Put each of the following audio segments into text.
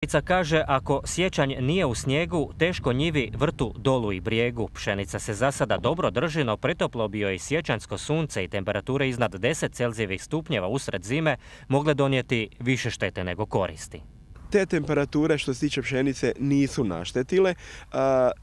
Pšenica kaže ako siječanj nije u snijegu, teško njivi, vrtu, dolu i brijegu. Pšenica se za sada dobro drži, no pretoplo bi joj siječanjsko sunce i temperature iznad 10 Celzijevih stupnjeva usred zime mogle donijeti više štete nego koristi. Te temperature što se tiče pšenice nisu naštetile.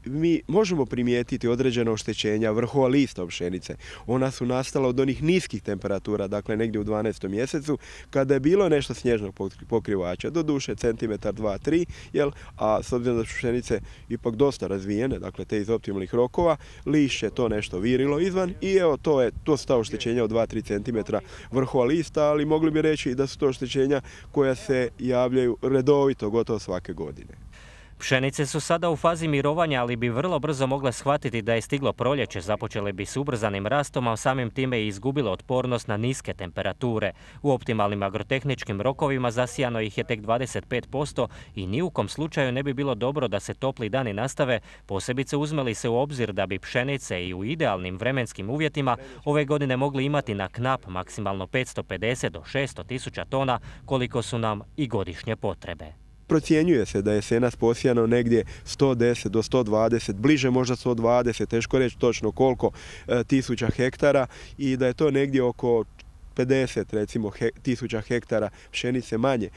Mi možemo primijetiti određena oštećenja vrhova lista pšenice. Ona su nastala od onih niskih temperatura, dakle negdje u 12. mjesecu, kada je bilo nešto snježnog pokrivača, doduše centimetar, 2, 3, a s obzirom da su pšenice ipak dosta razvijene, dakle te iz optimalnih rokova, lišće to nešto virilo izvan i evo to su ta oštećenja od 2-3 cm vrhova lista, ali mogli bi reći da su to oštećenja koja se javljaju redovito gotovo svake godine. Pšenice su sada u fazi mirovanja, ali bi vrlo brzo mogle shvatiti da je stiglo proljeće, započele bi s ubrzanim rastom, a samim time i izgubile otpornost na niske temperature. U optimalnim agrotehničkim rokovima zasijano ih je tek 25% i ni u kom slučaju ne bi bilo dobro da se topli dani nastave, posebice uzme li se u obzir da bi pšenice i u idealnim vremenskim uvjetima ove godine mogli imati na knap maksimalno 550 do 600 tisuća tona, koliko su nam i godišnje potrebe. Procjenjuje se da je jesenas posijano negdje 110 do 120, bliže možda 120, teško reći točno koliko tisuća hektara i da je to negdje oko 50 recimo tisuća hektara pšenice manje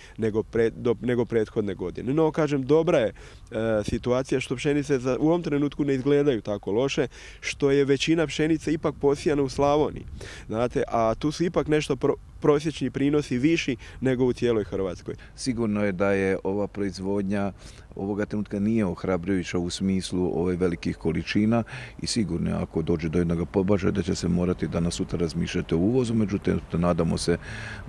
nego prethodne godine. No, kažem, dobra je situacija što pšenice u ovom trenutku ne izgledaju tako loše, što je većina pšenice ipak posijana u Slavoniji. Znate, a tu su ipak nešto prosječni prinosi viši nego u cijeloj Hrvatskoj. Sigurno je da je ova proizvodnja ovoga trenutka nije ohrabrujuća u smislu velikih količina i sigurno je ako dođe do jednog pobačaja da će se morati danas sutra razmišljati o uvozu, međutim nadamo se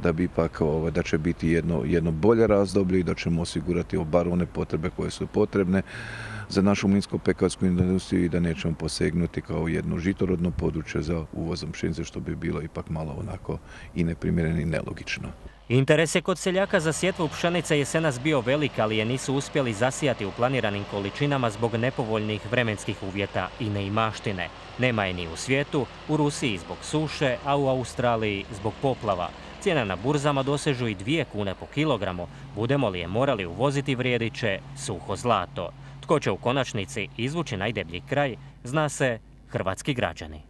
da bi ipak da će biti jedno bolje razdoblje i da ćemo osigurati bar one potrebe koje su potrebne za našu mlinsko-pekarsku industriju i da nećemo posegnuti kao jedno žitorodno područje za uvozom pšenice, što bi bilo ipak malo onako i neprimjereno i nelogično. Interes je kod seljaka za sjetvu pšenice jesenas bio velik, ali je nisu uspjeli zasijati u planiranim količinama zbog nepovoljnih vremenskih uvjeta i neimaštine. Nema je ni u svijetu, u Rusiji zbog suše, a u Australiji zbog poplava. Cijene na burzama dosežu i 2 kune po kilogramu. Budemo li je morali uvoziti, vrijedit će suho zlato. Tko će u konačnici izvući najdeblji kraj, zna se hrvatski građani.